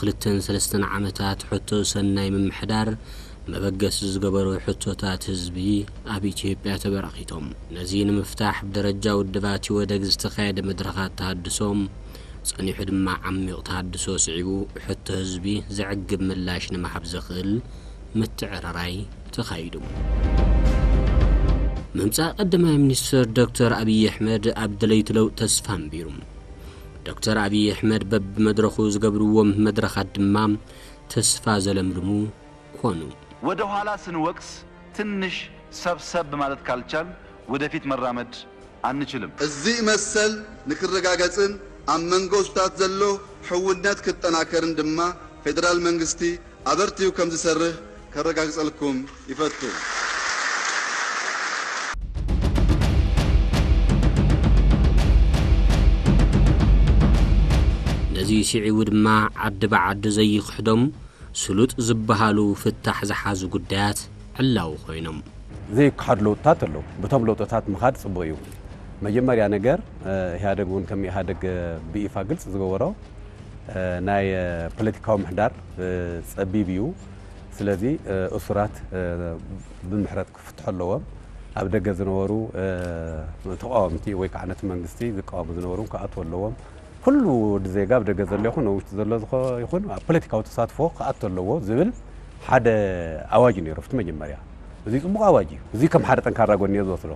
ክልተን ሰለስተን ዓመታት ሕቶ ሰናይ ምምሕዳር መበገሲ ዝገበሩ ሕቶታት ህዝቢ ኣብ ኢትዮጵያ ተበራኺቶም። ነዚ ንምፍታሕ ብደረጃ ውድባት ኢህወደግ ዝተኻየደ መድረኻት ተሃድሶ ጸኒሑ ድማ ዓሚቕ ተሃድሶ ስዒቡ ሕቶ ህዝቢ ዘዕግብ ምላሽ ንምሃብ ዘኽእል ምትዕርራይ ተኻይዱ። ምምጻእ ቀዳማይ ሚኒስትር ዶክተር ኣብይ ኣሕመድ ኣብ ደለይቲ ለውጢ ተስፋ ኣንቢሩ። ዶክተር ኣብይ ኣሕመድ በብመድረኹ ዝገብርዎም መድረኻት ድማ ተስፋ ዘለምልሙ ኮኑ። ወደ ኋላ ስንወቅስ ትንሽ ሰብሰብ ማለት ካልቻል ወደፊት መራመድ አንችልም። እዚ መሰል ንክረጋገጽን ኣብ መንጎ ህዝብታት ዘሎ ሕውነት ክጠናከርን ድማ ፌደራል መንግስቲ ኣበርቲዩ ከም ዝሰርህ ከረጋግጸልኩም ይፈቱ። ነዚ ስዒቡ ድማ ዓዲ ብዓዲ ዘይክሕዶም ስሉጥ ዝበሃሉ ፍታሕ ዝሓዙ ጉዳያት ዕላዊ ኮይኖም። ዘይከሓዱ ለውጥታት ኣለዉ። ብቶም ለውጥታት ምኻድ ጽቡቕ እዩ። መጀመርያ ነገር፣ እ፣ ኢህኣደግ እውን ከም ኢህኣደግ፣ እ፣ ብይፋ ግልጽ ዝገበሮ፣ እ፣ ናይ፣ እ፣ ፖለቲካዊ ምሕዳር፣ እ፣ ጸቢብ እዩ። ስለዚ፣ እ፣ እሱራት፣ እ፣ ብምሕረት ክፍትሑ ኣለዎም። ኣብ ደገ ዝነበሩ፣ እ፣ ተቃወምቲ ወይ ከዓ ነቲ መንግስቲ ዝቃወሙ ዝነበሩ ክኣትዉ ኣለዎም። ኩሉ ወዲ ዜጋ ኣብ ደገ ዘሎ ይኹን ኣብ ውሽጢ ዘሎ ዝኸ-፣ ይኹን ኣብ ፖለቲካዊ ተሳትፎ ክኣቱ ኣለዎ ዝብል ሓደ ኣዋጅ እዩ ነይሩ ኣብቲ መጀመርያ። እዚ ጽቡቕ ኣዋጅ እዩ። እዚ ከም ሓደ ጠንካራ ጎኒ እየ ዝወስዶ።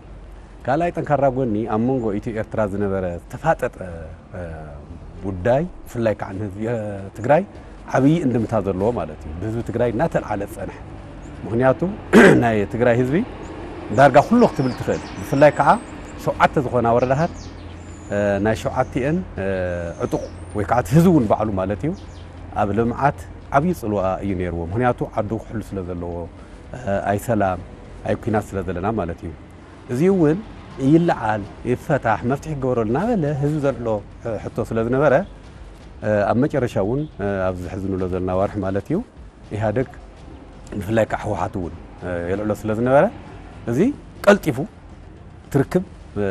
ካልኣይ ጠንካራ ጎኒ ኣብ መንጎ ኢትዮ ኤርትራ ዝነበረ ዝተፋጠጠ፣ እ፣ ጉዳይ ብፍላይ ከዓ ንህዝቢ፣ እ፣ ትግራይ ዓብዪ እንድምታ ዘለዎ ማለት እዩ። ብህዝቢ ትግራይ እናተልዓለ ዝጸንሐ። ምኽንያቱ ናይ ትግራይ ህዝቢ ዳርጋ ኩሉ ክትብል ትኽእል። ብፍላይ ከዓ ሸውዓተ ዝኾና ወረዳታት፣ እ፣ ናይ ሸውዓቲኤን፣ እ፣ ዕጡቕ ወይ ከዓ እቲ ህዝቢ እውን ባዕሉ ማለት እዩ ኣብ ልምዓት ዓብዪ ጽልዋ እዩ ነይርዎ። ምኽንያቱ ዓዱ ክሕሉ ስለ ዘለዎ፣ እ፣ ኣይ ሰላም ኣይ ኲናት ስለ ዘለና ማለት እዩ። እዚ እውን ይለዓል፣ ይፈታሕ፣ መፍትሒ ክገብረሉ እናበለ ህዝቢ ዘልዕሎ፣ እ፣ ሕቶ ስለ ዝነበረ፣ እ፣ ኣብ መጨረሻ እውን፣ እ፣ ኣብዚ ሕዚ ንብሎ ዘለና ዋርሒ ማለት እዩ ኢህኣደግ ብፍላይ ከዓ ህወሓት እውን፣ እ፣ የልዕሎ ስለ ዝነበረ እዚ ቀልጢፉ ትርክብ፣ እ፣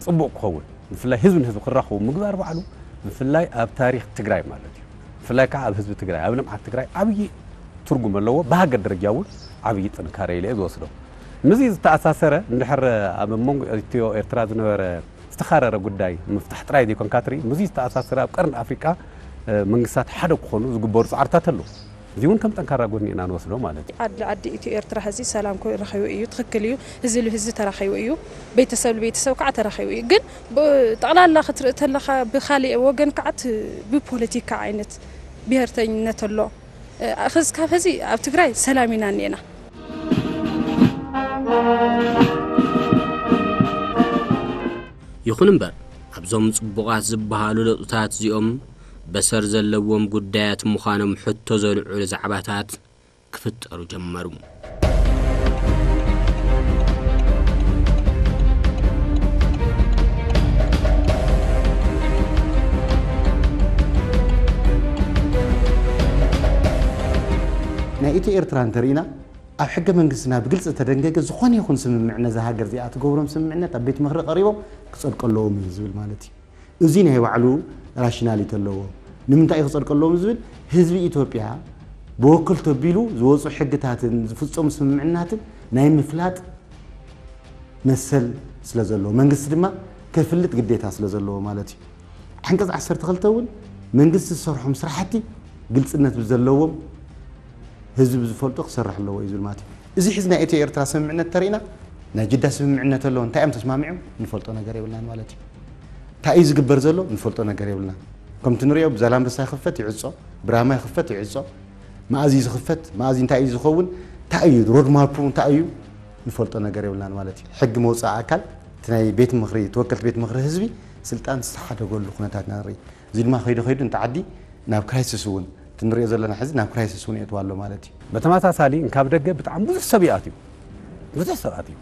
ጽቡቕ ክኸውን ብፍላይ ህዝቢ ንህዝቢ ክራኸቡ ምግባር ባዕሉ ብፍላይ ኣብ ታሪኽ ትግራይ ማለት እዩ ብፍላይ ከዓ ኣብ ህዝቢ ትግራይ ኣብ ልምዓት ትግራይ ዓብዪ ትርጉም ኣለዎ። ብሃገር ደረጃ እውን ዓብዪ ጥንካረ ኢለ እየ ዝወስዶ። ምስዚ ዝተኣሳሰረ እንድሕር ኣብ መንጎ ኢትዮ ኤርትራ ዝነበረ ዝተኻረረ ጉዳይ ምፍታሕ ጥራይ ዘይኮንካ ትርኢ፣ ምስዚ ዝተኣሳሰረ ኣብ ቀርኒ ኣፍሪቃ፣ እ፣ መንግስታት ሓደ ክኾኑ ዝግበሩ ጻዕርታት ኣለዉ። እዚ እውን ከም ጠንካራ ጎኒ ኢና ንወስዶ ማለት እዩ። ዓዲ ዓዲ ኢትዮ ኤርትራ ሕዚ ሰላም ክረኸቡ እዩ፣ ትኽክል እዩ። ህዝቢ ህዝቢ ተራኺቡ እዩ፣ ቤተሰብ ቤተሰብ ከዓ ተራኺቡ እዩ። ግን ብ-፣ ጠቕላላ ክትርኢ ተለኻ ብኻሊእ ወገን ከዓ ት-፣ ብፖለቲካ ዓይነት ብሄርተኝነት ኣሎ። እ፣ ክስ-፣ ካብ ሕዚ ኣብ ትግራይ ሰላም ኢና እኒኤና። ይኹን እምበር ኣብዞም ጽቡቓት ዝበሃሉ ለውጥታት እዚኦም በሰር ዘለዎም ጉዳያት ምዃኖም ሕቶ ዘልዕሉ ዛዕባታት ክፍጠሩ ጀመሩ። ናይ ኢትዮ ኤርትራ እንተርኢና ኣብ ሕገ መንግስትና ብግልፂ ዝተደንገገ ዝኾነ ይኹን ስምምዕ ነዛ ሃገር እዚኣ ትገብሮም ስምምዕነት ኣብ ቤት ምኽሪ ቀሪቦም ክፀድቁ ኣለዎም እዩ ዝብል ማለት እዩ። እዚ ናይ ባዕሉ ራሽናሊቲ ኣለዎ። ንምንታይ እዩ ክጸድቀሎም ዝብል ህዝቢ ኢትዮጵያ ብወክል ተቢሉ ዝወፁ ሕግታትን ዝፍጸሙ ስምምዕናትን ናይ ምፍላጥ መሰል ስለ ዘለዎ መንግስቲ ድማ ከፍልጥ ግዴታ ስለ ዘለዎ ማለት እዩ። ዓንቀጽ ዓሰርተ ክልተ እውን መንግስቲ ዝሰርሖም ስራሕቲ ግልጽነት ብዘለዎም ህዝቢ ብዝፈልጦ ክሰርሕ ኣለዎ እዩ ዝብል ማለት እዩ። እዚ ሕዚ ናይ ኢትዮ ኤርትራ ስምምዕነት ተሪእና ናይ ጅዳ ስምምዕነት ኣለዎ እንታይ እዮም ተስማሚዖም ንፈልጦ ነገር የብልናን ማለት እዩ። እንታይ እዩ ዝግበር ዘሎ ንፈልጦ ነገር የብልና። ከምቲ ንሪኦ ብዛላምበሳ ይኽፈት ይዕጾ፣ ብራማ ይኽፈት ይዕጾ፣ መኣዝ እዩ ዝኽፈት፣ መኣዝ እንታይ እዩ ዝኸውን፣ እንታይ እዩ ሮድማፑ እንታይ እዩ ንፈልጦ ነገር የብልናን ማለት እዩ። ሕጊ መውፃኢ ኣካል እቲ ናይ ቤት ምኽሪ ተወከልቲ ቤት ምኽሪ ህዝቢ ስልጣን ዝተሓደገሉ ኩነታት ኢና ንርኢ። እዚ ድማ ከይዱ ከይዱ እንተ ዓዲ ናብ ክራይሲስ እውን እቲ ንሪኦ ዘለና ሕዚ ናብ ክራይሲስ እውን የእትዋ ኣሎ ማለት እዩ። በተመሳሳሊ እንካብ ደገ ብጣዕሚ ብዙሕ ሰብ ይኣትዩ። ብዙሕ ሰባት እዩ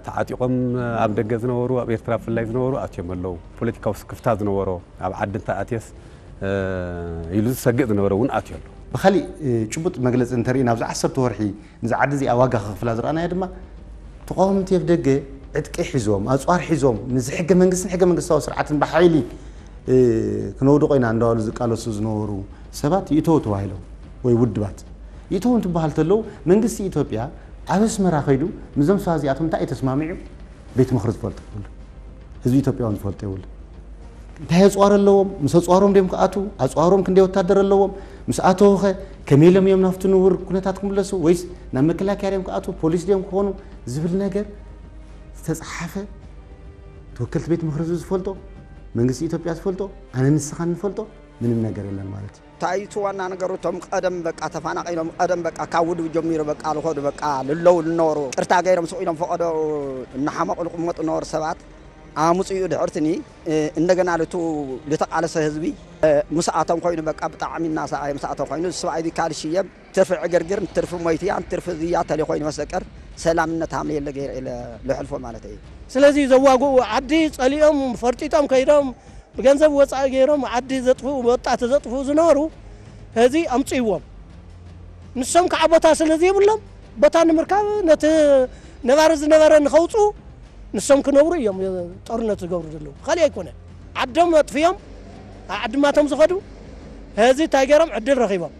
ተዓጢቖም ኣብ ደገ ዝነበሩ ኣብ ኤርትራ ብፍላይ ዝነበሩ ኣትዮም ኣለዉ። ፖለቲካዊ ስክፍታ ዝነበሮ ኣብ ዓዲ እንተኣትየስ ኢሉ ዝሰግእ ዝነበረ እውን ኣትዩ ኣሎ። ብኻሊእ ጭቡጥ መግለፂ እንተርኢ ናብዚ ዓሰርተ ወርሒ ንዚ ዓዲ እዚኣ ዋጋ ክኽፍላ ዝረኣናዮ ድማ ተቃወምቲ ኣብ ደገ ዕጥቂ ሒዞም ኣፅዋር ሒዞም ንዚ ሕገ መንግስትን ሕገ መንግስታዊ ስርዓትን ብሓይሊ እ፣ ክነውድቆ ኢና እንዳበሉ ዝቃለሱ ዝነበሩ ሰባት ይእተው ተባሂሎም ወይ ውድባት ይእተው እንትበሃል ተለዉ መንግስቲ ኢትዮጵያ ኣብ ኣስመራ ከይዱ ምስዞም ሰባት እዚኣቶም እንታይ እዩ ተስማሚዑ ቤት ምኽሪ ዝፈልጦ የብሉ። ህዝቢ ኢትዮጵያ እውን ዝፈልጦ የብሉ። እንታይ ኣፅዋር ኣለዎም? ምስ ኣፅዋሮም ድዮም ክኣትዉ? ኣፅዋሮም ክንደይ ወታደር ኣለዎም? ምስ ኣተዉ ኸ ከመይ ኢሎም እዮም ናብቲ ንቡር ኩነታት ክምለሱ? ወይስ ናብ መከላከያ ድዮም ክኣትዉ? ፖሊስ ድዮም ክኾኑ? ዝብል ነገር ዝተፅሓፈ ተወከልቲ ቤት ምኽሪ ህዝቢ ዝፈልጦ፣ መንግስቲ ኢትዮጵያ ዝፈልጦ፣ ኣነ ንስኻ እንፈልጦ ምንም ነገር የለን ማለት እዩ። እንታይ እቲ ዋና ነገሩ? እቶም ቀደም በቃ ተፈናቒሎም፣ ቀደም በቃ ካብ ውድብ ጀሚሩ በቃ ልኸዱ በቃ ልለው ልነበሩ ቅርታ ገይሮም ስቕ ኢሎም ፈቐዶ እናሓመቑ ልቕመጡ ነበሩ ሰባት ኣምፅኡ ድሕርትኒ፣ እ፣ እንደገና ልቱ ልተቓለሰ ህዝቢ፣ እ፣ ምስኣቶም ኮይኑ በቃ ብጣዕሚ እናሰኣየ ምስኣቶም ኮይኑ፣ እዚ ሰብኣይ እዚ ካልሽየም ትርፊ ዕግርግር፣ ትርፊ ሞይትያን፣ ትርፊ ዝያ ተሌ ኮይኑ መሰቀር ሰላምነት ሃምለ የለ ገይረ ኢለ ልሕልፎ ማለት እዩ። ስለዚ ዘዋግኡ ዓዲ ጸሊኦም ፈርጢጦም ከይዶም ብገንዘብ ወጻኢ ገይሮም ዓዲ ዘጥፍኡ፣ ወጣት ዘጥፍኡ ዝነበሩ፣ ሕዚ ኣምጽእዎም። ንሶም ከዓ ቦታ ስለ ዘይብሎም፣ ቦታ ንምርካብ ነቲ ነባሪ ዝነበረ ንኸውጽኡ፣ ንሶም ክነብሩ እዮም ጦርነት ዝገብሩ ዘለዉ። ካልእ ኣይኮነን። ዓዶም ኣጥፍዮም፣ ኣብ ዓድማቶም ዝኸዱ፣ ሕዚ እንታይ ገይሮም ዕድል ረኺቦም።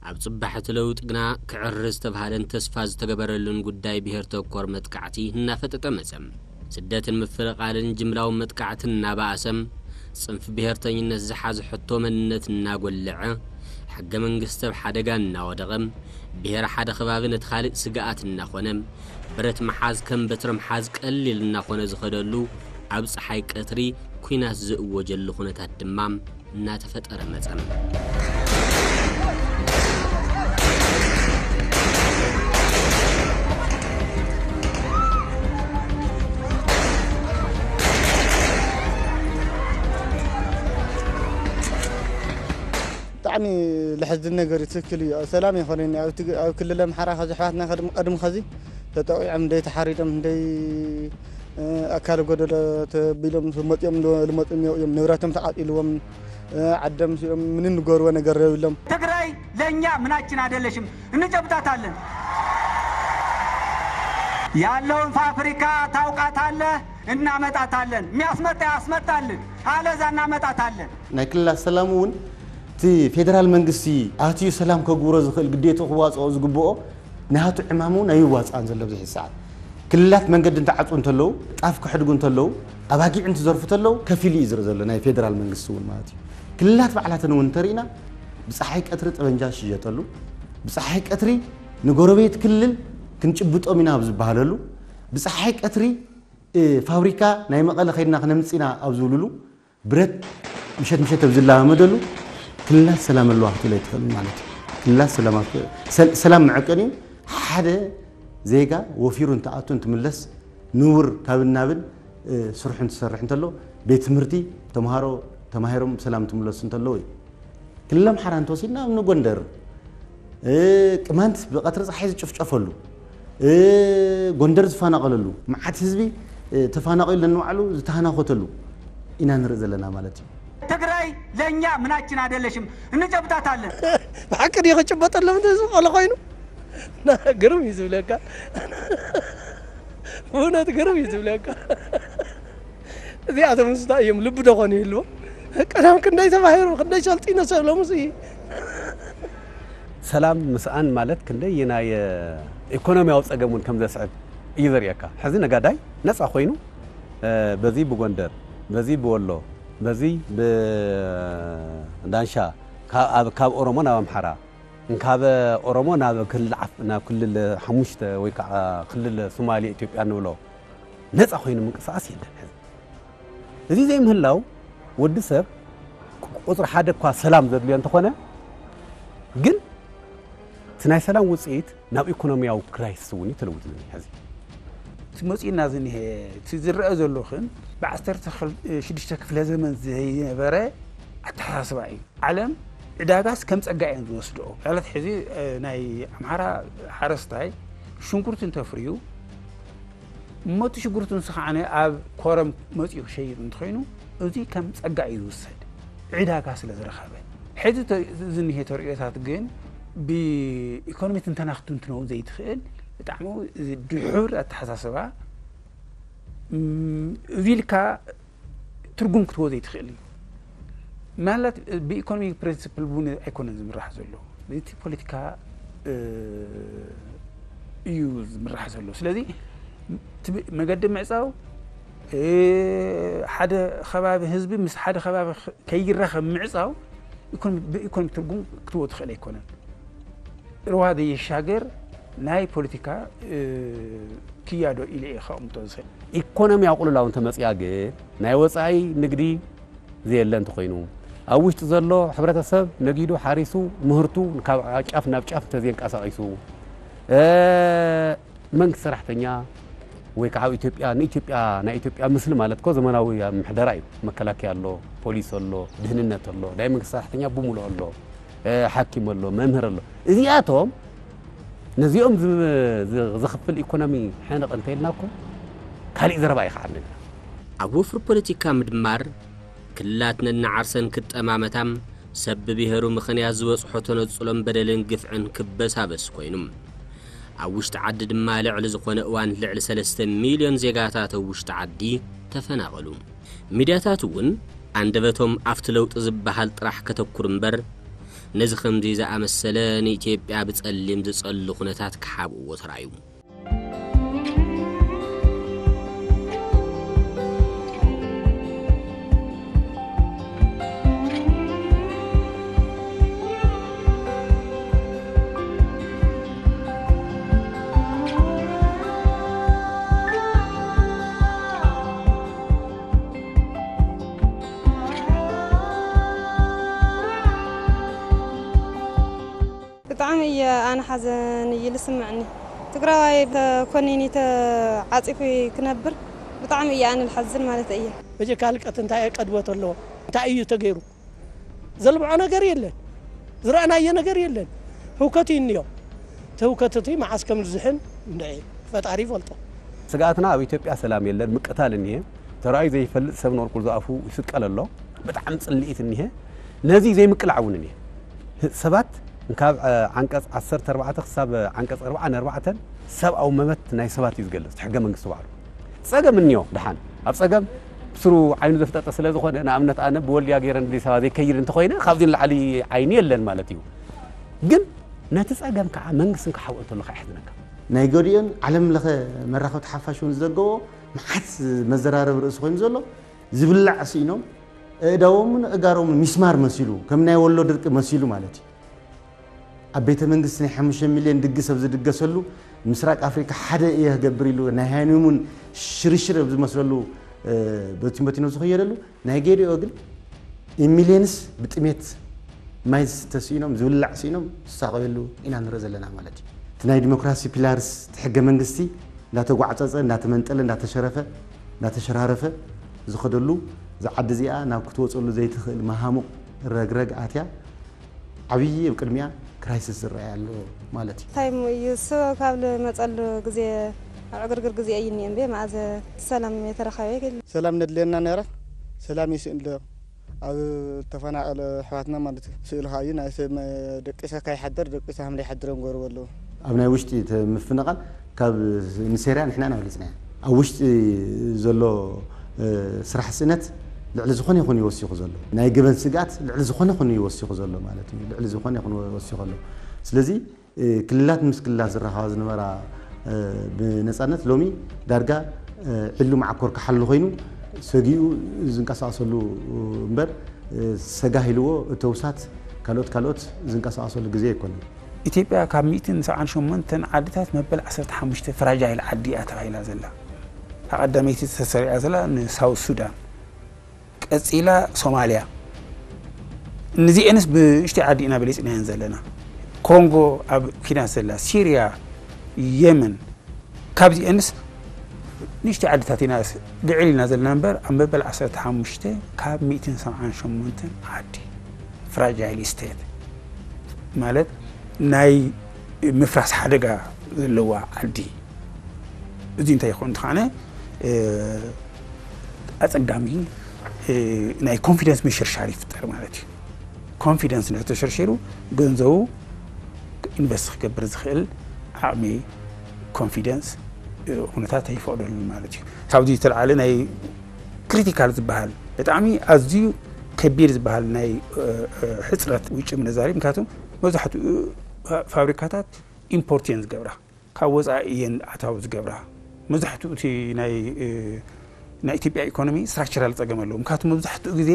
ኣብ ጽባሕ እቲ ለውጢ ግና ክዕሪ ዝተባህለን ተስፋ ዝተገበረሉን ጉዳይ ብሄር ተኮር መጥቃዕቲ እናፈጠጠ መጸ። ስደትን ምፍልቓልን ጅምላዊ መጥቃዕትን እናበኣሰ፣ ጽንፊ ብሄርተኝነት ዝሓዘ ሕቶ መንነት እናጎለዐ፣ ሕገ መንግስቲ ኣብ ሓደጋ እናወደቐ፣ ብሄር ሓደ ከባቢ ነቲ ካልእ ስግኣት እናኾነ፣ ብረት ምሓዝ ከም በትሪ ምሓዝ ቀሊል እናኾነ ዝኸደሉ፣ ኣብ ጸሓይ ቀትሪ ኲናት ዝእወጀሉ ኩነታት ድማ እናተፈጠረ መጸ። ብጣዕሚ ለሕዝን ነገር እዩ። ትክክል እዩ። ሰላም ኣይኮነን። ኣብ ትግ-፣ ኣብ ክልል ኣምሓራ ከዚ ኣሕዋትና ከድም-፣ ቀድም ከዚ ተጠቂዖም፣ እንደይ ተሓሪዶም፣ እንደይ፣ እ፣ ኣካል ጎደሎ ተቢሎም መፂኦም ዶ-፣ ልመፁ እኒኦ እዮም። ንብረቶም ተቃፂልዎም፣ እ፣ ዓዶም ሲኦም ምንም ንገርዎ ነገር የብሎም። ትግራይ ለእኛ ምናችን አይደለሽም፣ እንጨብጣታለን። ያለውን ፋብሪካ ታውቃታለህ፣ እናመጣታለን። የሚያስመጣ ያስመጣልን፣ አለዛ እናመጣታለን። ናይ ክልላት ሰላም እውን እቲ ፌደራል መንግስቲ ኣትዩ ሰላም ከግብሮ ዝኽእል ግዴትኡ ክዋፅኦ ዝግብኦ ናቱ ዕማም እውን ኣይዋፅኣን ዘሎ ኣብዚ ሕዚ ሰዓት። ክልላት መንገዲ እንትዓፁ እንተለዉ፣ ጣፍ ክሕድጉ እንተለዉ፣ ኣባጊዕ እንትዘርፉ እንተለዉ ከፊሉ እዩ ዝርኢ ዘሎ ናይ ፌደራል መንግስቲ እውን ማለት እዩ። ክልላት ባዕላተን እውን እንተርኢና ብፀሓይ ቀትሪ ጠበንጃ ዝሽየጠሉ፣ ብፀሓይ ቀትሪ ንጎረቤት ክልል ክንጭብጦም ኢና ኣብ ዝበሃለሉ፣ ብፀሓይ ቀትሪ፣ እ፣ ፋብሪካ ናይ መቐለ ከይድና ክነምፅእ ኢና ኣብ ዝብልሉ፣ ብረት ምሸት ምሸት ኣብ ዝለማመደሉ ክልላት ሰላም ኣለዋ ክትብል ኣይትኽእልን ማለት እዩ። ክልላት ሰላም ኣብ-፣ ሰል-፣ ሰላም መዐቀኒ ሓደ ዜጋ ወፊሩ እንትኣቱ እንትምለስ ንቡር ካብን ናብን፣ እ፣ ስርሑ እንትሰርሕ እንተሎ ቤት ትምህርቲ ተምሃሮ ተማሂሮም ብሰላም እንትምለሱ እንተለዉ እዩ። ክልል ኣምሓራ እንተወሲድና እምኒ ጎንደር፣ እ፣ ቅማንት ብቐትሪ ፀሓይ ዝጭፍጨፈሉ፣ እ፣ ጎንደር ዝፈናቐለሉ፣ መዓት ህዝቢ፣ እ፣ ተፈናቒሉ ነንባዕሉ ዝተሃናኾተሉ ኢና ንርኢ ዘለና ማለት እዩ። ትግራይ ለእኛ ምናችን አይደለሽም፣ እንጨብጣታለን። ብሓቂ ድዩ ክጭበጠሎም እንተ ዝቐለ ኮይኑ? ና፣ ግርም እዩ ዝብለካ። ብእውነት ግርም እዩ ዝብለካ። እዚኣቶም ምስታ እዮም ልቢ ዶ ኾኑ ይህልዎም? ቀደም ክንደይ ተባሂሮም፣ ክንደይ ሰልጢኖ ሰብሎምስ እዩ። ሰላም ምስኣን ማለት ክንደይ ናይ ኢኮኖሚያዊ ጸገም እውን ከም ዘስዕብ እዩ ዘርእየካ። ሕዚ ነጋዳይ ነጻ ኮይኑ፣ እ፣ በዚ ብጎንደር፣ በዚ ብወሎ፣ በዚ ብዳንሻ፣ ካብ፣ ኣብ፣ ካብ ኦሮሞ ናብ ኣምሓራ፣ ካብ ኦሮሞ ናብ ክልል ዓፍ-፣ ናብ ክልል ሓሙሽተ ወይ ከዓ ክልል ሶማሌ ኢትዮጵያ ንብሎ ነፃ ኮይኑ ምንቅስቃስ የለን። ሕዚ እዚ ዘይምህላው ወዲ ሰብ ቁፅሪ ሓደ እኳ ሰላም ዘድልዮ እንተኾነ፣ ግን እቲ ናይ ሰላም ውፅኢት ናብ ኢኮኖሚያዊ ክራይሲስ እውን እዩ ተለዊጡ ዝኒሀ። ሕዚ እቲ መፂኡና ዝኒሀ፣ እቲ ዝረአ ዘሎ ግን ብዓሰርተ ሽዱሽተ ክፍለ ዘመን ዘይነበረ ኣተሓሳስባ እዩ። ዓለም ዕዳጋስ ከም ጸጋ እየን ዝወስድኦ። ማለት ሕዚ ናይ ኣምሓራ ሓረስታይ ሽንኩርቲ እንተፍርዩ፣ እሞ እቲ ሽጉርቲ ንሱ ከዓነ ኣብ ኮረም መጺኡ ክሸይጥ እንተኾይኑ፣ እዚ ከም ጸጋ እዩ ዝውሰድ፣ ዕዳጋ ስለ ዝረኸበ። ሕዚ ዝኒሄ ተርእዮታት ግን ብኢኮኖሚ ትንተና ክትንትኖ ዘይትኽእል፣ ብጣዕሚ ድሑር ኣተሓሳስባ። እዚ ኢልካ ትርጉም ክትቦ ዘይትኽእል እዩ። ማለት ብኢኮኖሚ ፕሪንስፕል እውን ኣይኮነን ዝምራሕ ዘሎ፣ እቲ ፖለቲካ እዩ ዝምራሕ ዘሎ። ስለዚ መገዲ ምዕፃው፣ ሓደ ከባቢ ህዝቢ ምስ ሓደ ከባቢ ከይራኸብ ምዕፃው ብኢኮኖሚ ትርጉም ክትቦ ትኽእል ኣይኮነን። ርዋ ዘይሻገር ናይ ፖለቲካ ክያዶ ኢለ እየ ከቕምጦ ዝኽእል። ኢኮኖሚ ኣቑልላው እንተመፅያ ግን ናይ ወፃኢ ንግዲ ዘየለ እንተኾይኑ፣ ኣብ ውሽጢ ዘሎ ሕብረተሰብ ነጊዱ ሓሪሱ ምህርቱ ካብ ጫፍ ናብ ጫፍ እንተዘየንቀሳቒሱ፣ መንግስቲ ሰራሕተኛ ወይ ከዓ ኣብ ኢትዮጵያ ንኢትዮጵያ ናይ ኢትዮጵያ ምስሊ ማለት እኮ ዘመናዊ ምሕደራ እዩ። መከላከያ ኣሎ፣ ፖሊስ ኣሎ፣ ድህንነት ኣሎ፣ ናይ መንግስቲ ሰራሕተኛ ብሙሉእ ኣሎ፣ ሓኪም ኣሎ፣ መምህር ኣሎ። እዚኣቶም ነዚኦም ዘኽፍል ኢኮኖሚ ሕንቕ እንተኢልና እኮ ካሊእ ዘረባ ኣይኸዓልንን ኢና። ኣብ ወፍሪ ፖለቲካ ምድማር ክልላት ነንዓርሰን ክጠማመታ፣ ሰብ ብብሄሩ ምኽንያት ዝበፅሖ ተነፅሎን በደልን ግፍዕን ክበሳበስ ኮይኑ። ኣብ ውሽጢ ዓዲ ድማ ልዕሊ ዝኾነ እዋን ልዕሊ ሰለስተ ሚልዮን ዜጋታት ኣብ ውሽጢ ዓዲ ተፈናቐሉ። ሚድያታት እውን ኣንደበቶም ኣብቲ ለውጢ ዝበሃል ጥራሕ ከተኩር እምበር ነዚ ከምዚ ዝኣመሰለ ንኢትዮጵያ ብፀሊም ዝፀሊ ኩነታት ክሓብእዎ ተራእዩ። ብጣዕሚ እየ ኣነ ሓዘን እዩ ዝስምዕኒ። ትግራዋይ ተኮኒኒ ተዓፂፉ ክነብር ብጣዕሚ እየ ኣነ ዝሓዝን ማለት እየ። በጀካ ህልቀት እንታይ ቀድወት ኣለዎ? እንታይ እዩ ተገይሩ? ዘልምዖ ነገር የለን፣ ዝረኣናዮ ነገር የለን። ህውከት እዩ እኒኦ። እቲ ህውከት እቲ መዓስ ከም ዝዝሕል እንድዒ ፈጣሪ ይፈልጦ። ስግኣትና ኣብ ኢትዮጵያ ሰላም የለን፣ ምቅታል እኒሀ። ተራእዩ ዘይፈልጥ ሰብ ንቁልቁል ዝኣፉ ይስቀል ኣሎ። ብጣዕሚ ፅልኢት እኒሀ። ነዚ ዘይምቅላዕ እውን እኒሀ። ሰባት ካብ ዓንቀፅ ዓሰርተ ኣርባዕተ ክሳብ ዓንቀፅ ኣርብዓ ንኣርባዕተን ሰብኣዊ መበት ናይ ሰባት እዩ ዝገልፅ እቲ ሕገ መንግስቲ ባዕሉ። ፀገም እኒኦ ድሓን ኣብ ፀገም ብስሩ ዓይኑ ዘፍጠጠ ስለ ዝኾነ ንኣብነት ኣነ ብወልድያ ገይረ ንኣዲስ ኣበባ ዘይከይድ እንተኾይነ ካብዚ ንላዕሊ ዓይኒ የለን ማለት እዩ። ግን ነቲ ፀገም ከዓ መንግስትን ክሓብኦ እንተሎ ከዓ ይሕዝነካ። ናይ ገሊኦን ዓለም ለኸ መራኸብቲ ሓፋሽ እውን ዝዘገቦ መዓት መዘራረቢ ርእሲ ኮይኑ ዘሎ ዝብላዕ ስኢኖም ኣእዳዎምን ኣእጋሮምን ሚስማር መሲሉ ከም ናይ ወሎ ድርቂ መሲሉ ማለት እዩ። ኣብ ቤተ መንግስቲ ናይ ሓሙሽተ ሚልዮን ድግስ ኣብ ዝድገሰሉ ምስራቅ ኣፍሪካ ሓደ እየ ክገብር ኢሉ ናይ ሃኒሙን ሽርሽር ኣብ ዝመስለሉ በቲን በቲኖ ዝኸየደሉ ናይ ጌዲኦ ግን ኢሚልዮንስ ብጥሜት ማይ ዝስተ ስኢኖም ዝብላዕ ስኢኖም ዝሳቐየሉ ኢና ንርኢ ዘለና ማለት እዩ። እቲ ናይ ዲሞክራሲ ፒላርስ እቲ ሕገ መንግስቲ እንዳተጓዕፀፀ እንዳተመንጠለ እንዳተሸረፈ እንዳተሸራረፈ ዝኸደሉ እዛ ዓዲ እዚኣ ናብ ክትወፀሉ ዘይትኽእል መሃሙቕ ረግረግ ኣትያ ዓብዪ ኣብ ቅድሚያ ክራይሲስ ዝረኣይ ኣሎ ማለት እዩ። እንታይ እሞ እዩ እሱ ካብ ዝመፀሉ ግዜ ኣብ ዕግርግር ግዜ እዩ እኒኦ እምበይ መኣዘ ሰላም የተረኸበ የለን። ሰላም ነድልየና ነይራ ሰላም ይስእን ዶ ኣብ ተፈናቐለ ኣሕዋትና ማለት እዩ። ስእሉ ከዓ እዩ ናይ ሰብ ደቂሰ ካይሓደር ደቂሰ ሃም ዘይሓድረም ገርቦ ኣለዉ። ኣብ ናይ ውሽጢ ምፍንቓል ካብ ንሴርያ ንሕና ኢና በሊፅናያ። ኣብ ውሽጢ ዘሎ ስራሕ ስእነት ልዕሊ ዝኾነ ይኹን እዩ ወሲኹ ዘሎ። ናይ ገበን ስግኣት ልዕሊ ዝኾነ ይኹን እዩ ወሲኹ ዘሎ ማለት እዩ። ልዕሊ ዝኾነ ይኹን ወሲኹ ኣሎ። ስለዚ ክልላት ምስ ክልላት ዝራኸባ ዝነበራ ብነፃነት ሎሚ ዳርጋ ዕሉ መዓኮር ክሓሉ ኮይኑ ሰጊኡ ዝንቀሳቐሰሉ እምበር ሰጋህ ኢልዎ እተውሳት ካልኦት ካልኦት ዝንቀሳቐሰሉ ግዜ ኣይኮነን። ኢትዮጵያ ካብ ሚእትን ሰብዓን ሸሞንተን ዓድታት መበል ዓሰርተ ሓሙሽተ ፍራጃይል ዓዲ እያ ተባሂላ ዘላ። እታ ቀዳመይቲ ተሰሪዓ ዘላ ንሳውት ሱዳን፣ ቀፂላ ሶማልያ። ንዚኤንስ ብእሽተይ ዓዲ ኢና በሊፅናየን ዘለና። ኮንጎ ኣብ ኪናት ዘላ፣ ሲርያ፣ የመን፣ ካብዚኤንስ ንእሽተይ ዓድታት ኢና ልዕል ኢልና ዘለና እምበር ኣብ መበል ዓሰርተ ሓሙሽተ ካብ ሚእትን ሰብዓን ሸሞንተን ዓዲ ፍራጃይል ስቴት ማለት ናይ ምፍራስ ሓደጋ ዘለዋ ዓዲ። እዚ እንታይ ይኾን እንተኾነ ኣፀጋሚ ናይ ኮንፊደንስ ምሽርሻር ይፍጠር ማለት እዩ። ኮንፊደንስ እንተተሸርሺሩ ገንዘቡ ኢንቨስት ክገብር ዝኽእል ዓቕሚ ኮንፊደንስ ኩነታት ኣይፈቕደሉን ማለት እዩ። ካብዚ ዝተለዓለ ናይ ክሪቲካል ዝበሃል ብጣዕሚ ኣዝዩ ከቢድ ዝበሃል ናይ ሕፅረት ውጭ ምንዛሪ ምክንያቱም መብዛሕትኡ ፋብሪካታት ኢምፖርት እየን ዝገብራ፣ ካብ ወፃኢ እየን ኣታዊ ዝገብራ። መብዛሕትኡ እቲ ናይ ናይ ኢትዮጵያ ኢኮኖሚ ስትራክቸራል ፀገም ኣለዎ። ምክንያቱ መብዛሕትኡ ግዜ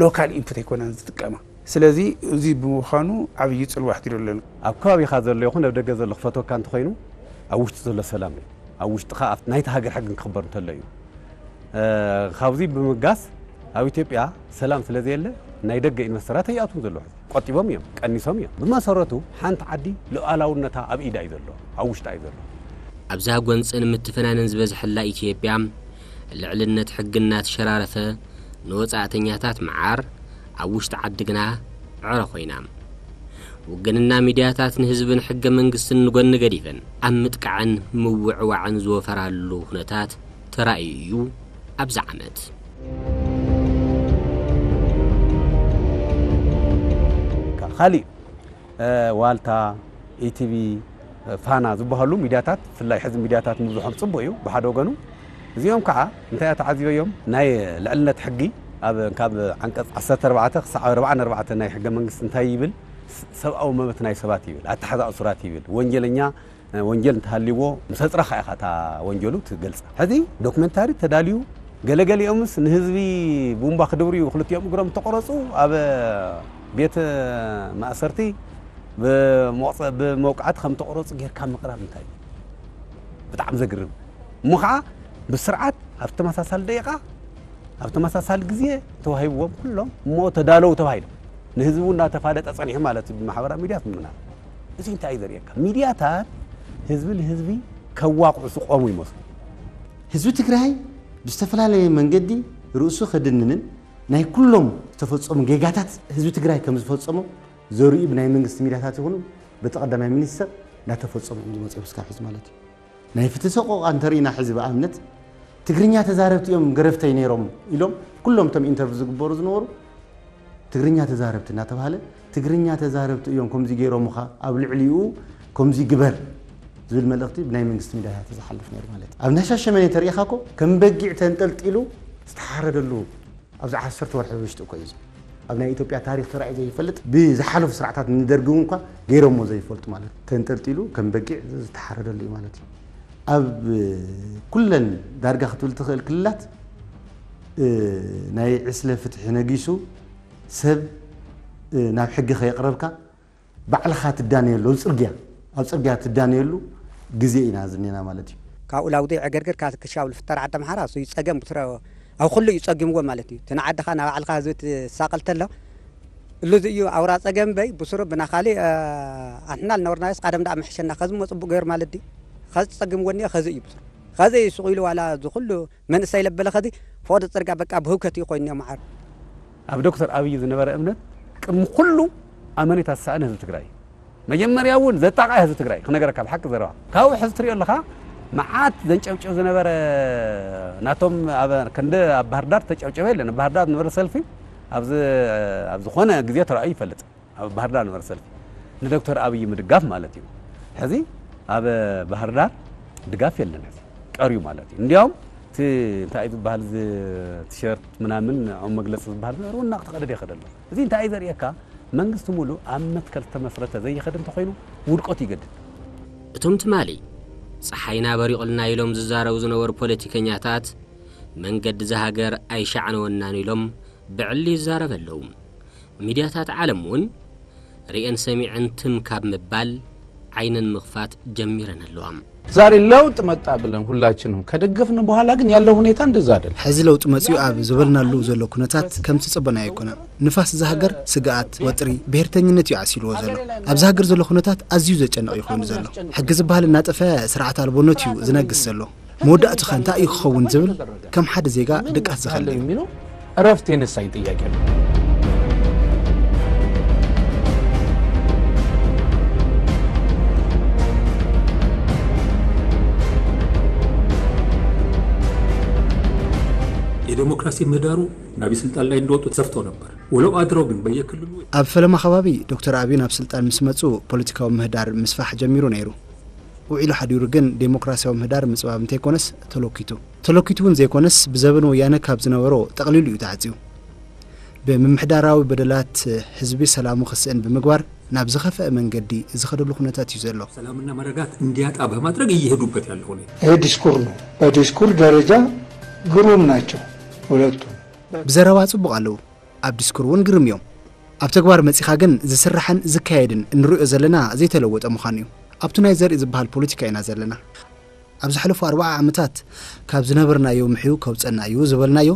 ሎካል ኢንፑት ኣይኮነን ዝጥቀማ። ስለዚ እዚ ብምዃኑ ዓብዪ ፅልዋ ኣሕዲሩ ኣለና። ኣብ ከባቢኻ ዘሎ ይኹን ኣብ ደገ ዘሎ ክፈትወካ እንተኾይኑ ኣብ ውሽጢ ዘሎ ሰላም እዩ። ኣብ ውሽጥኻ ናይቲ ሃገር ሕግን ክኽበር እንተሎ እዩ። ካብዚ ብምጋስ ኣብ ኢትዮጵያ ሰላም ስለ ዘየለ ናይ ደገ ኢንቨስተራት ኣይኣትውን ዘለዉ። ቆጢቦም እዮም፣ ቀኒሶም እዮም። ብመሰረቱ ሓንቲ ዓዲ ሉኣላውነታ ኣብ ኢዳ እዩ ዘሎ፣ ኣብ ውሽጣ እዩ ዘሎ። ኣብዛ ጎንፅን ምትፍናንን ዝበዝሐላ ኢትዮጵያ ልዕልነት ሕጊ እናተሸራረፈ ንወፃእተኛታት መዓር ኣብ ውሽጢ ዓዲ ግና ዕረ ኮይና። ውግንና ሚድያታት ንህዝብን ሕገ መንግስትን ንጎኒ ገዲፈን ኣብ ምጥቃዕን ምውዕዋዕን ዝወፈራሉ ኩነታት ተራእዩ እዩ ኣብዚ ዓመት። ካሊእ ዋልታ፣ ኢቲቪ፣ ፋና ዝበሃሉ ሚድያታት ብፍላይ ሕዚ ሚድያታት ምብዝሖም ፅቡቅ እዩ ብሓደ ወገኑ። እዚኦም ከዓ እንታይ ተዓዚበዮም ናይ ልዕልነት ሕጊ ኣብ ካብ ዓንቀፅ ዓሰርተ ኣርባዕተ ክሳዕ ኣርባዓን ኣርባዕተን ናይ ሕገ መንግስቲ እንታይ ይብል? ሰብኣዊ መብት ናይ ሰባት ይብል፣ ኣተሓዛ እሱራት ይብል፣ ወንጀለኛ ወንጀል እንተሃልይዎ ምስ ኣፅረኻ ኢኻ እታ ወንጀሉ ትገልፃ። ሕዚ ዶክመንታሪ ተዳልዩ ገለገሊኦምስ ንህዝቢ ቡምባ ክድብርዩ ክልቲኦም እግሮም ተቆረፁ ኣብ ቤት ማእሰርቲ ብመውቃዕቲ ከም ተቆረፁ ጌርካ ምቅራብ እንታይ እዩ? ብጣዕሚ ዘግርም እሞ ከዓ ብስርዓት ኣብ ተመሳሳሊ ደቂቃ ኣብ ተመሳሳሊ ግዜ ተዋሂብዎም ኩሎም እሞ ተዳለው ተባሂሎም ንህዝቡ እናተፋለጠ ፀኒሑ ማለት እዩ ብማሕበራዊ ሚድያ ምምና እዚ እንታይ እዩ ዘርእየካ ሚድያታት ህዝቢ ንህዝቢ ከዋቕዑ ዝቆሙ ይመስሉ። ህዝቢ ትግራይ ብዝተፈላለየ መንገዲ ርእሱ ከድንንን ናይ ኩሎም ዝተፈፀሙ ጌጋታት ህዝቢ ትግራይ ከም ዝፈፀሞ ዘርእዩ ብናይ መንግስቲ ሚድያታት ይኹኑ በቲ ቀዳማይ ሚኒስተር እንዳተፈፀሙ እዮም ዝመፅኡ ክሳብ ሕዚ ማለት እዩ። ናይ ፍትሒ ሰቆቃ እንተሪኢና ሕዚ ብኣብነት ትግርኛ ተዛረብቲ እዮም ገረፍተይ ነይሮም ኢሎም ኩሎም እቶም ኢንተርቪው ዝግበሩ ዝነበሩ ትግርኛ ተዛረብቲ እናተባሃለ ትግርኛ ተዛረብቲ እዮም ከምዚ ገይሮምኻ ኣብ ልዕሊኡ ከምዚ ግበር ዝብል መልእኽቲ ብናይ መንግስቲ ሚድያታት ዝሓልፍ ነይሩ ማለት እዩ። ኣብ ናይ ሻሸመኔ ተሪኢኻ እኮ ከም በጊዕ ተንጠልጢሉ ዝተሓረደሉ ኣብዚ ዓሰርተ ወርሒ ውሽጢ እኮ እዩ። ኣብ ናይ ኢትዮጵያ ታሪኽ ተራእዩ ዘይፈልጥ ብዝሓለፉ ስርዓታት ንደርጊ እውን እኳ ገይሮሞ ዘይፈልጡ ማለት እዩ። ተንጠልጢሉ ከም በጊዕ ዝተሓረደሉ እዩ ማለት እዩ። ኣብ ኩለን ዳርጋ ክትብል ትኽእል ክልላት ናይ ዕስለ ፍትሒ ነጊሱ ሰብ ናብ ሕጊ ከየቕረብካ ባዕልኻ ትዳነየሉ ኣብ ፅርግያ ኣብ ፅርግያ ትዳነየሉ ግዜ ኢና ዝኒና ማለት እዩ። ካብኡ ላውዲ ዕግርግር ካብ ክሻብ ልፍጠር ዓዲ ኣምሓራ እሱ ይፀገም ብስረ ኣብ ኩሉ እዩ ፀጊምዎ ማለት እዩ። እቲ ንዓድኻ ናብ ባዕልኻ ህዝቢ ትሳቐል ተሎ እሉ እዚ እዩ ኣውራ ፀገም በይ ብስሩ ብና ካሊእ ኣንሕና ልነበርናዮስ ቀደም ዳኣ ምሕሸና ከዚ እሞ ፅቡቅ ገይሩ ማለት ድዩ? ከዚ ፀጊምዎ እኒኦ ከዚ እዩ ብስሩ ከዚ እዩ ስቕ ኢሉ ዋላ እዚ ኩሉ መንእሰይ ለበለ ከዚ ፈቐዶ ፅርግያ በቃ ብህውከት እዩ ኮይኑ እኒኦ መዓር። ኣብ ዶክተር ኣብይ ዝነበረ እምነት ቅድሚ ኩሉ ኣመኔታ ዝሰኣነ ህዝቢ ትግራይ እዩ። መጀመርያ እውን ዘጣቕዐ ህዝቢ ትግራይ ክነገረካ ብሓቂ ዘረባ ካብኡ ሕዚ ትሪኦ ኣለኻ መዓት ዘንጨብጭብ ዝነበረ ናቶም ኣብ ክንዲ ኣብ ባህርዳር ተጨብጨበ የለን ኣብ ባህርዳር ዝነበረ ሰልፊ ኣብዚ ኣብ ዝኾነ ግዜ ተራእዩ ይፈልጥ ኣብ ባህርዳር ዝነበረ ሰልፊ ንዶክተር ኣብይ ምድጋፍ ማለት እዩ ሕዚ ኣብ ባህርዳር ድጋፍ የለን ሕዚ ቀርዩ ማለት እዩ እንዲያውም እቲ እንታይ ዝበሃል ቲሸርት ምናምን ንዕኦም መግለፂ ዝበሃል ዝነበረ እውን እናተቐደደ ይኸደ ኣሎ እዚ እንታይ እዩ ዘርእየካ መንግስቲ ሙሉእ ኣብ መትከል ዝተመስረተ ዘይኸድ እንተኾይኑ ውድቀቱ ይገድድ። እቶም ትማሊ ፀሓይና በሪቑልና ኢሎም ዝዛረቡ ዝነበሩ ፖለቲከኛታት መንገዲ እዛ ሃገር ኣይሻዕነወናን ኢሎም ብዕሊ ይዛረቡ ኣለዉ። ሚድያታት ዓለም እውን ርእየን ሰሚዐን ትም ካብ ምባል ዓይነን ምኽፋት ጀሚረን ኣለዋ። ዛሬ ለውጥ መጣ ብለን ሁላችንም ከደገፍን በኋላ ግን ያለው ሁኔታ እንደዛ አይደለም። ሕዚ ለውጥ መፅኡ ኣብ ዝበልናሉ ዘሎ ኩነታት ከምቲ ዝፀበናዮ ኣይኮነን። ንፋስ እዛ ሃገር ስግኣት፣ ወጥሪ፣ ብሄርተኝነት እዩ ዓሲልዎ ዘሎ። ኣብዛ ሃገር ዘሎ ኩነታት ኣዝዩ ዘጨንቕ እዩ ኮይኑ ዘሎ። ሕጊ ዝበሃል እናጠፈ ስርዓት ኣልቦነት እዩ ዝነግስ ዘሎ። መወዳእቱኸ እንታይ እዩ ክኸውን ዝብል ከም ሓደ ዜጋ ድቃስ ዝኸልል እዩ። የሚለው እረፍት የነሳኝ ጥያቄ ነው። ዴሞክራሲ ምህዳሩ ናብ ስልጣን ላይ እንደወጡ ተሰፍቶ ነበር። ውለው አድረው ግን በየክልሉ ኣብ ፈለማ ከባቢ ዶክተር ኣቢይ ናብ ስልጣን ምስ መጹ ፖለቲካዊ ምህዳር ምስፋሕ ጀሚሩ ነይሩ። ውዒሉ ሓዲሩ ግን ዴሞክራሲያዊ ምህዳር ምጽባብ እንተይኮነስ ተለኪቱ። ተለኪቱ እውን ዘይኮነስ ብዘበን ወያነ ካብ ዝነበሮ ጠቕሊሉ እዩ ተዓጽዩ። ብምምሕዳራዊ በደላት ህዝቢ ሰላሙ ክስእን ብምግባር ናብ ዝኸፍአ መንገዲ ዝኸደሉ ኩነታት እዩ ዘሎ። ሰላምና መረጋት እንዲያጣ በማድረግ እየሄዱበት ያለ ሁኔታ። ይሄ ዲስኩር ነው። በዲስኩር ደረጃ ግሩም ናቸው ሁለቱ። ብዘረባ ጽቡቕ ኣለዉ፣ ኣብ ዲስኩር እውን ግርም እዮም። ኣብ ተግባር መጺኻ ግን ዝስራሕን ዝካየድን እንሪኦ ዘለና ዘይተለወጠ ምዃኑ እዩ። ኣብቱ ናይ ዘርኢ ዝበሃል ፖለቲካ ኢና ዘለና። ኣብ ዝሓለፉ ኣርባዓ ዓመታት ካብ ዝነበርናዮ ምሕዩ ከውጸና እዩ ዝበልናዮ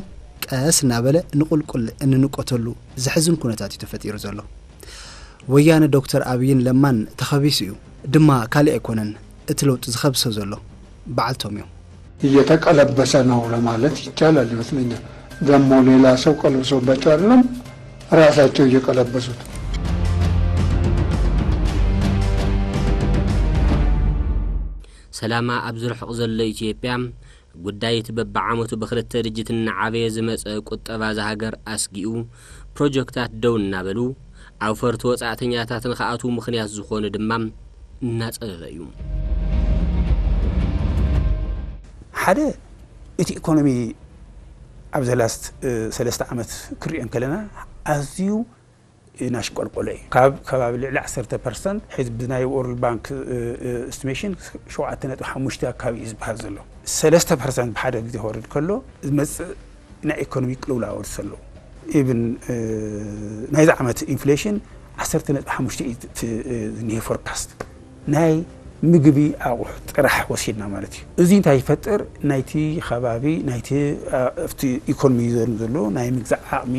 ቀስ እናበለ ንቁልቁል እንንቆተሉ ዘሕዝን ኩነታት እዩ ተፈጢሩ ዘሎ። ወያነ ዶክተር ኣብይን ለማን ተኸቢሱ እዩ ድማ ካልእ ኣይኮነን እቲ ለውጢ ዝኸብሶ ዘሎ በዓልቶም እዮም። እየተቀለበሰ ነው ለማለት ይቻላል ይመስለኛል። ደግሞ ሌላ ሰው ቀልብሶባቸው አይደለም፣ ራሳቸው እየቀለበሱት። ሰላማ ኣብ ዝርሕቕ ዘሎ ኢትዮጵያ ጉዳይ እቲ በብዓመቱ ብክልተ ድጅት እናዓበየ ዝመጸ ቁጠባ እዛ ሃገር ኣስጊኡ ፕሮጀክታት ደው እናበሉ ኣውፈርቲ ወጻእተኛታት ንክኣትዉ ምኽንያት ዝኾኑ ድማ እናጸበበ እዩ። ሓደ እቲ ኢኮኖሚ ኣብ ዘላስት ሰለስተ ዓመት ክሪኦ እንከለና ኣዝዩ እናሽቆልቆለ እዩ። ካብ ከባቢ ልዕሊ ዓሰርተ ፐርሰንት ሕዚ ብናይ ወርልድ ባንክ ኤስቲሜሽን ሸውዓተ ነጥቢ ሓሙሽተ ኣካባቢ እዩ ዝበሃል ዘሎ። ሰለስተ ፐርሰንት ብሓደ ግዜ ክወርድ ከሎ ዝመፅእ ናይ ኢኮኖሚ ቅልውላው ኣሎ። ኢቭን ናይዚ ዓመት ኢንፍሌሽን ዓሰርተ ነጥቢ ሓሙሽተ እዩ ዝኒሄ ፎርካስት ናይ ምግቢ ኣቑሑ ጥራሕ ወሲድና ማለት እዩ። እዚ እንታይ ይፈጥር? ናይቲ ከባቢ ናይቲ ኣብቲ ኢኮኖሚ ዘሎ ናይ ምግዛእ ዓቕሚ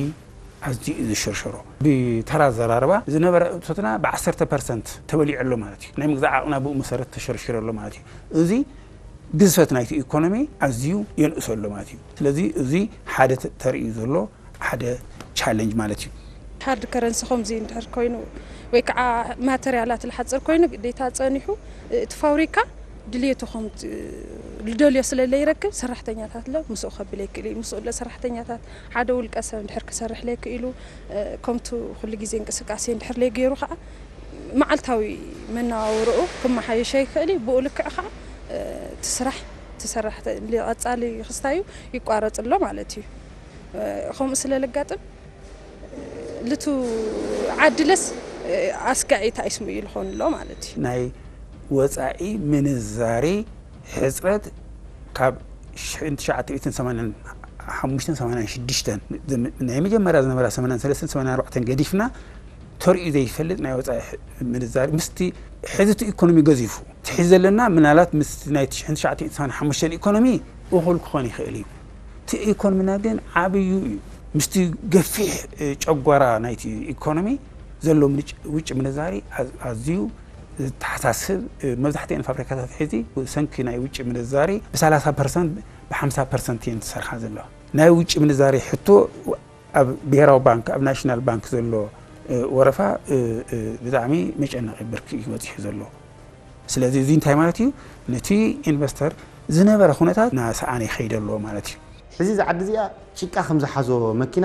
ኣዝዩ እዩ ዝሸርሸሮ። ብተራ ኣዘራርባ ዝነበረ እቶትና ብዓሰርተ ፐርሰንት ተበሊዑ ኣሎ ማለት እዩ። ናይ ምግዛእ ዓቕና ብኡ መሰረት ተሸርሽሩ ኣሎ ማለት እዩ። እዚ ግዝፈት ናይቲ ኢኮኖሚ ኣዝዩ የንእሶ ኣሎ ማለት እዩ። ስለዚ እዚ ሓደ ተርእዩ ዘሎ ሓደ ቻለንጅ ማለት እዩ። ሃርድ ከረንሲ ከምዚ እንድሕር ኮይኑ ወይ ከዓ ማተርያላት ዝሓፅር ኮይኑ ግዴታ ፀኒሑ እቲ ፋብሪካ ድልየቱ ከም ዝደልዮ ስለ ለይረክብ ሰራሕተኛታት ለ ምስኡ ከብል ኣይክእል እዩ። ምስኡ ለ ሰራሕተኛታት ሓደ ውልቀ ሰብ እንድሕር ክሰርሕ ለይክእሉ ከምቱ ኩሉ ግዜ እንቅስቃሴ እንድሕር ለይገይሩ ከዓ መዓልታዊ መነባብርኡ ክመሓየሽ ኣይክእል እዩ። ብኡ ልክዕ ከዓ እቲ ስራሕ እቲ ሰራሕ ቀፃሊ ክስታዩ ይቋረፅ ኣሎ ማለት እዩ። ከምኡ ስለ ልጋጥም ልቱ ዓድለስ ኣስጋዒ ታይስሙ እዩ ልኾን ኣሎ ማለት እዩ። ናይ ወፃኢ ምንዛሬ ሕፅረት ካብ ሽሕን ትሽዓተ ሚእትን ሰማንያን ሓሙሽተን ሰማንያን ሽዱሽተን ናይ መጀመርያ ዝነበራ ሰማንያን ሰለስተን ሰማንያን ኣርባዕተን ገዲፍና ተርእዩ ዘይፈልጥ ናይ ወፃኢ ምንዛሪ ምስቲ ሕዚ እቲ ኢኮኖሚ ገዚፉ ትሕዚ ዘለና ምናልባት ምስ ናይ ትሽዓተ ሓሙሽተ ኢኮኖሚ እኹል ክኾን ይኽእል እዩ። እቲ ኢኮኖሚና ግን ዓብዩ እዩ። ምስቲ ገፊሕ ጨጓራ ናይቲ ኢኮኖሚ ዘሎ ውጭ ምንዛሪ ኣዝዩ ዝተሓሳስብ። መብዛሕትኤን ፋብሪካታት ሕዚ ሰንኪ ናይ ውጭ ምንዛሪ ብ30 ፐርሰንት ብ50 ፐርሰንት እየን ዝሰርሓ ዘለዋ። ናይ ውጭ ምንዛሪ ሕቶ ኣብ ብሄራዊ ባንክ ኣብ ናሽናል ባንክ ዘሎ ወረፋ ብጣዕሚ መጨነቂ ብርኪ እዩ በፂሑ ዘሎ። ስለዚ እዚ እንታይ ማለት እዩ? ነቲ ኢንቨስተር ዝነበረ ኩነታት ናሰኣነ ይኸይድ ኣሎ ማለት እዩ። ሕዚ እዛ ዓዲ እዚኣ ጭቃ ከም ዝሓዞ መኪና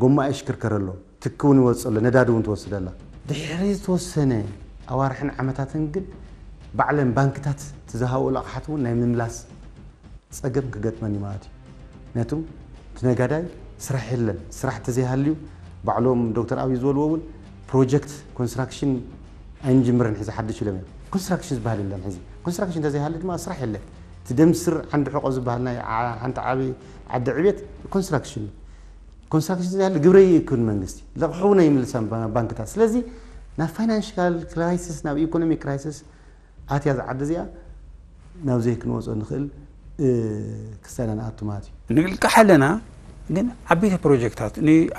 ጎማ ይሽክርከር ኣሎ፣ ትኪ እውን ይወፅእ ኣሎ፣ ነዳዲ እውን ትወስድ ኣላ። ድሕሪ ዝተወሰነ ኣዋርሕን ዓመታትን ግን ባዕለን ባንክታት እቲ ዝሃብኦ ኣቕሓት እውን ናይ ምምላስ ፀገም ክገጥመን እዩ ማለት እዩ። ምክንያቱ እቲ ነጋዳይ ስራሕ የለን፣ ስራሕ እንተዘይሃልዩ ባዕሎም ዶክተር ኣብይ ዝበልዎ እውን ፕሮጀክት ኮንስትራክሽን ኣይንጅምርን ሕዚ ሓድሽ ኢሎም እዮም። ኮንስትራክሽን ዝበሃል የለን ሕዚ። ኮንስትራክሽን እንተዘይሃልዩ ድማ ስራሕ የለን። እቲ ደም ስር ዓንዲ ሕቆ ዝበሃል ናይ ሓንቲ ዓቢ ዓዲ ዕቤት ኮንስትራክሽን እዩ። ኮንስትራክሽን እንተዘይሃልዩ ግብሪ ኣይእክብን መንግስቲ፣ ልቕሑ እውን ኣይምልሳን ባንክታት። ስለዚ ናብ ፋይናንሻል ክራይሲስ ናብ ኢኮኖሚ ክራይሲስ ኣትያ እዛ ዓዲ እዚኣ ናብ ዘይ ክንወፅኦ ንኽእል ክስታና ንኣቱ ማለት እዩ። ንልቃሕ ኣለና ግን ዓበይቲ ፕሮጀክታት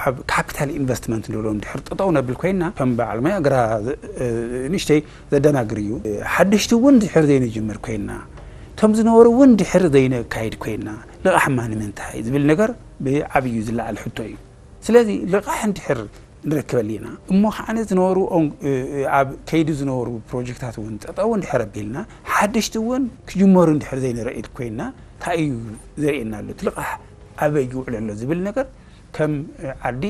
ኣብ ካፒታል ኢንቨስትመንት ንብሎም ድሕር ጠጠው ነብል ኮይና ከም በዓል ሞያ ግራ ንእሽተይ ዘደናግር እዩ። ሓደሽቲ እውን ድሕር ዘይንጅምር ኮይና እቶም ዝነበሩ እውን ድሕር ዘይነካይድ ኮይና ልቓሕማ ንምንታይ ዝብል ነገር ብዓብዩ ዝለዓል ሕቶ እዩ። ስለዚ ልቓሕ እንድሕር ንረክበሉ ኢና እሞ ከዓነ ዝነበሩ ኣብ ከይዲ ዝነበሩ ፕሮጀክታት እውን ጠጠው እንድሕር ኣቢልና ሓደሽቲ እውን ክጅመሩ እንድሕር ዘይንረኢድ ኮይና እንታይ እዩ ዘርእየና ኣሎ እቲ ልቓሕ? ኣበይ ይውዕል ኣሎ ዝብል ነገር ከም ዓዲ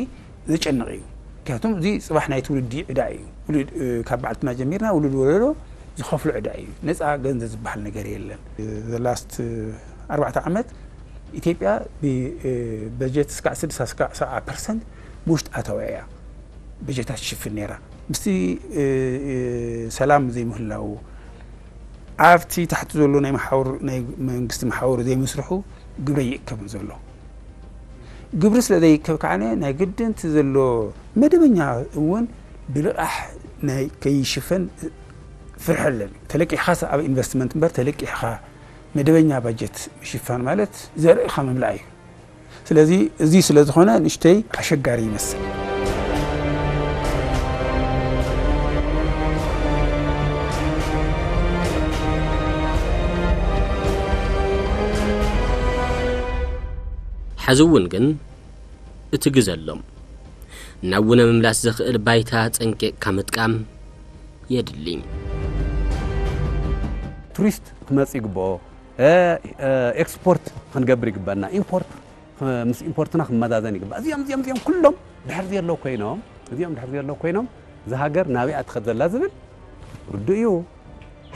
ዘጨንቕ እዩ። ምክንያቱም እዚ ጽባሕ ናይ ትውልዲ ዕዳ እዩ። ውሉድ፣ እ፣ ካብ በዓልትና ጀሚርና ውሉድ ወለዶ ዝኸፍሎ ዕዳ እዩ። ነጻ ገንዘብ ዝበሃል ነገር የለን። The last ኣርባዕተ ዓመት ኢትዮጵያ ብ-፣ እ፣ በጀት እስካዕ ስድሳ እስካዕ ሰብዓ ፐርሰንት ብውሽጢ ኣታውያ እያ በጀታ ትሽፍን ነይራ። ምስቲ፣ እ፣ እ፣ ሰላም ዘይምህላው፣ ኣብቲ ታሕቲ ዘሎ ናይ መሓውር፣ ናይ መንግስቲ መሓውር ዘይምስርሑ ግብሪ ይእከብ ዘሎ። ግብሪ ስለ ዘይእከብ ከዓነ ናይ ግድን እቲ ዘሎ መደበኛ እውን ብልቓሕ ናይ ከይሽፈን ፍርሒ ኣለኒ። ተለቂሕኻስ ኣብ ኢንቨስትመንት እምበር ተለቂሕኻ መደበኛ ባጀት ምሽፋን ማለት ዘርእኻ ምምላእ እዩ። ስለዚ እዚ ስለ ዝኾነ ንእሽተይ ኣሸጋሪ ይመስል። ሕዚ እውን ግን እቲ ግዘ ኣሎ። ናብ ውነ ምምላስ ዘኽእል ባይታ ጸንቂቕካ ምጥቃም የድሊ። ቱሪስት ክመጽእ ይግብኦ። እ፣ እ፣ ኤክስፖርት ክንገብር ይግበና። ኢምፖርት ምስ ኢምፖርትና ክመዛዘን ይግባእ። እዚኦም፣ እዚኦም፣ እዚኦም ኩሎም ድሕር ዘለዉ ኮይኖም፣ እዚኦም ድሕር ዘለዉ ኮይኖም፣ እዛ ሃገር ናበይ እያ ትኸድ ዘላ ዝብል ርዱእ እዩ።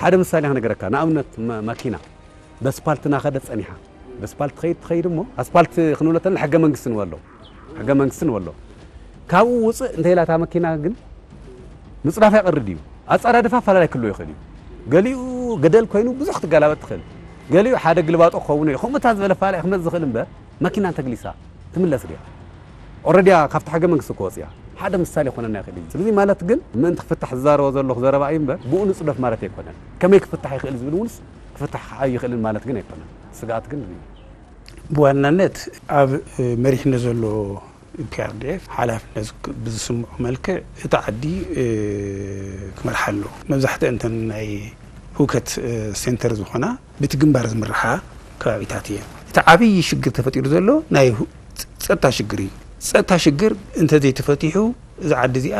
ሓደ ምሳሌ ክነገረካ፣ ንኣብነት መ-፣ መኪና በስፓልት እናኸደት ጸኒሓ። በስፓልት ትኸይድ ትኸይድ እሞ፣ ኣስፓልት ክንብሎ ተለና ሕገ መንግስቲ ንበሎ። ሕገ መንግስቲ ንበሎ። ካብኡ ውጽእ እንተ ኢላ እታ መኪና ግን ምጽዳፍ ኣይቐርድ እዩ። ኣጻዳድፋ ኣፈላላይ ክህልዎ ይኽእል እዩ። ገሊኡ ገደል ኮይኑ ብዙሕ ክትገላበጥ ትኽእል። ገሊኡ ሓደ ግልባጦ ክኸውን እዩ። ከምኡታት ዝበለ ኣፈላላይ ክመጽእ ዝኽእል እምበር መኪና እንተግሊሳ ትምለስ ድያ? ኦረድያ ካብቲ ሕገ መንግስቲ እኮ ወጽያ። ሓደ ምሳሌ ኮነና ይኽእል እዩ። ስለዚ ማለት ግን ምእንቲ ክፍታሕ ዝዛረቦ ዘለኹ ዘረባ እዩ እምበር ብኡ ንጽደፍ ማለት ኣይኮነን። ከመይ ክፍታሕ ይኽእል ዝብል እውንስ ክፍታሕ ኣይኽእልን ማለት ግን ኣይኮነን። ስግኣት ግን እዩ። ብዋናነት ኣብ፣ እ፣ መሪሕነት ዘሎ ፒኣርዲኤፍ ሓላፍነት ብዝስምዖ መልክዕ እቲ ዓዲ፣ እ፣ ክመርሓ ኣለዎ። መብዛሕትአን እተን ናይ ህውከት፣ እ፣ ሴንተር ዝኾና በቲ ግንባር ዝምርሓ ከባቢታት እየን። እቲ ዓብዪ ሽግር ተፈጢሩ ዘሎ ናይ ሁ-፣ ጸጥታ ሽግር እዩ። ጸጥታ ሽግር እንተዘይተፈቲሑ እዛ ዓዲ እዚኣ፣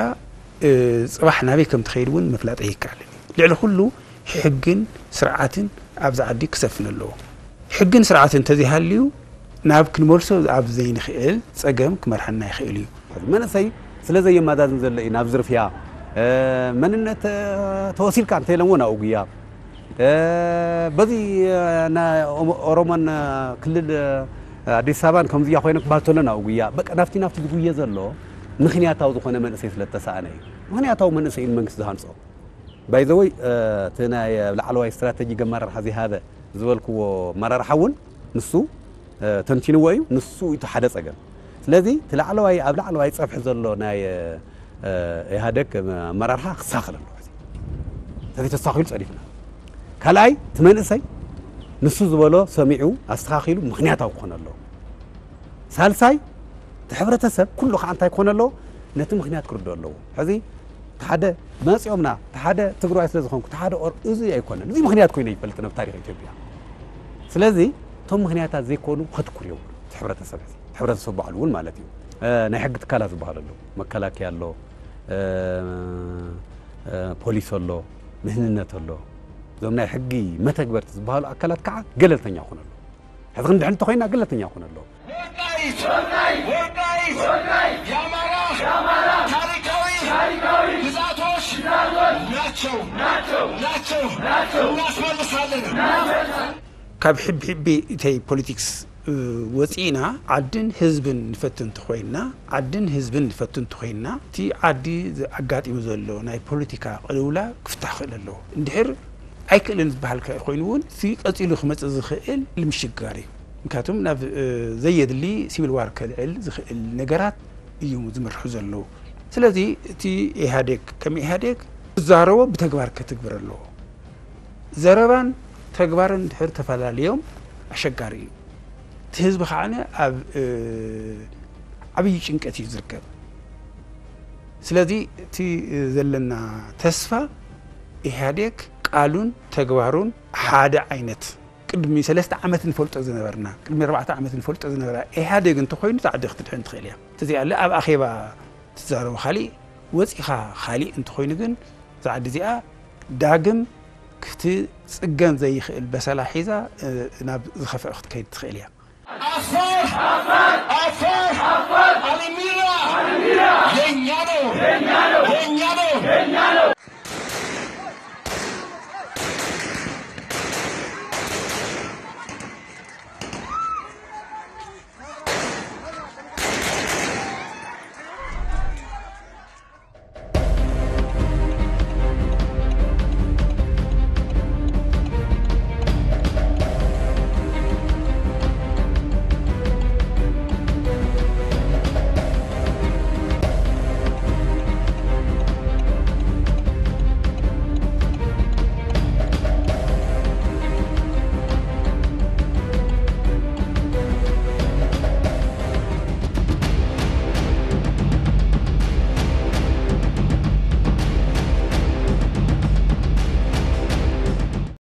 እ፣ ጽባሕ ናበይ ከም ትኸይድ እውን ምፍላጥ ኣይከኣልን እዩ። ልዕሊ ኩሉ ሕግን ስርዓትን ኣብዚ ዓዲ ክሰፍን ኣለዎ። ሕግን ስርዓትን እንተዘይሃልዩ ናብ ክንመልሶ ኣብ ዘይንኽእል ጸገም ክመርሓና ይኽእል እዩ። መንእሰይ ስለ ዘየመዛዝን ዘሎ እዩ ናብ ዝርፍያ፣ እ፣ መንነት፣ እ፣ ተወሲልካ እንተኢሎምዎ ናብኡ ጉያ፣ እ፣ በዚ፣ እ፣ ናይ ኦሞ-፣ ኦሮሞን፣ እ፣ ክልል፣ እ፣ ኣዲስ ኣበባን ከምዚያ ኮይነ ክበሃል ተሎ ናብኡ ጉያ። በቃ ናብቲ ናብቲ ዝጉየ ዘሎ ምኽንያታዊ ዝኾነ መንእሰይ ስለ እተሰኣነ እዩ። ምኽንያታዊ መንእሰይ እዩ መንግስቲ ዝሃንጾ። ባይ ዘ ወይ፣ እ፣ እቲ ናይ ላዕለዋይ ስትራተጂክ ኣመራርሓ ዝሃበ ዝበልክዎ ኣመራርሓ እውን ንሱ፣ እ፣ ተንቲንዎ እዩ። ንሱ እዩ እቲ ሓደ ጸገም። ስለዚ እቲ ላዕለዋይ፣ ኣብ ላዕለዋይ ጸፍሒ ዘሎ ናይ፣ እ፣ ኢህኣደግ ኣመራርሓ ክሳኽል ኣለዎ። ሕዚ ተዘይተሳኺሉ ጸዲፍና። ካልኣይ እቲ መንእሰይ ንሱ ዝበሎ ሰሚዑ ኣስተኻኺሉ ምኽንያታዊ ክኾን ኣለዎ። ሳልሳይ እቲ ሕብረተሰብ ኩሉ ከዓ እንታይ ክኾን ኣለዎ? ነቲ ምኽንያት ክርድኦ ኣለዎ። ሕዚ እቲ ሓደ መፂኦምና፣ እቲ ሓደ ትግራዋይ ስለ ዝኾንኩ፣ እቲ ሓደ ኦር-፣ እዚ ኣይኮነን። እዚ ምኽንያት ኮይኑ ይፈልጥ ኣብ ታሪኽ ኢትዮጵያ። ስለዚ እቶም ምኽንያታት ዘይኮኑ ከትኩር እዮም እቲ ሕብረተሰብ፣ እቲ ሕብረተሰብ ባዕሉ እውን ማለት እዩ። እ፣ ናይ ሕጊ ትካላት ዝበሃሉ ኣለዉ። መከላከያ ኣሎ፣ እ፣ እ፣ ፖሊስ ኣሎ፣ ድህንነት ኣሎ። እዞም ናይ ሕጊ መተግበርቲ ዝበሃሉ ኣካላት ከዓ ገለልተኛ ክኾኑ ኣለዉ። ሕዚ ክንድሕን እንተኾይና ገለልተኛ ክኾኑ ኣለዉ። ወልቃይት! ወልቃይት! ወልቃይት! የአማራ! የአማራ! ታሪካዊ! ታሪካዊ! ግዛቶች! ግዛቶች! ናቸው! ናቸው! ናቸው! ናቸው! እናስመልሳለን! እናስመልሳለን! ካብ ሕብሕቢ እተይ ፖለቲክስ፣ እ፣ ወፂእና ዓድን ህዝብን ንፈትን እንተኾይንና፣ ዓድን ህዝብን ንፈትን እንተኾይንና፣ እቲ ዓዲ ኣጋጢሙ ዘሎ ናይ ፖለቲካ ቅልውላ ክፍታሕ ክኽእል ኣለዎ። እንድሕር ኣይክእልን ዝበሃል ከ-፣ ኮይኑ እውን እቲ ቀፂሉ ክመፅእ ዝኽእል ምሽግጋር እዩ። ምክንያቱም ናብ፣ እ፣ ዘየድሊ ሲቪል ዋር ከልዕል ዝኽእል ነገራት እዩ ዝምርሑ ዘለዉ። ስለዚ እቲ ኢህኣዴግ ከም ኢህኣዴግ ዝዛረቦ ብተግባር ከትግብር ኣለዎ። ዘረባን ተግባርን ድሕር ተፈላለዮም ኣሸጋሪ እዩ። እቲ ህዝቢ ከዓነ ኣብ፣ እ፣ ዓብዪ ጭንቀት እዩ ዝርከብ። ስለዚ እቲ ዘለና ተስፋ ኢህኣዴግ ቃሉን ተግባሩን ሓደ ዓይነት ቅድሚ ሰለስተ ዓመት ንፈልጦ ዝነበርና፣ ቅድሚ ኣርባዕተ ዓመት ንፈልጦ ዝነበራ ኢህኣዴግ እንተኾይኑ፣ እዛ ዓዲ ክትድሕን ትኽእል እያ። እንተዘይኣለ ኣብ ኣኼባ ትዛረቦ ካሊእ፣ ወፂኻ ካሊእ እንተኾይኑ ግን፣ እዛ ዓዲ እዚኣ ዳግም ክትጽገን ዘይኽእል በሰላ ሒዛ፣ እ፣ ናብ ዝኸፍአ ክትከይድ ትኽእል እያ። አፋር አፋር አሊሚራ የኛ ነው የኛ ነው።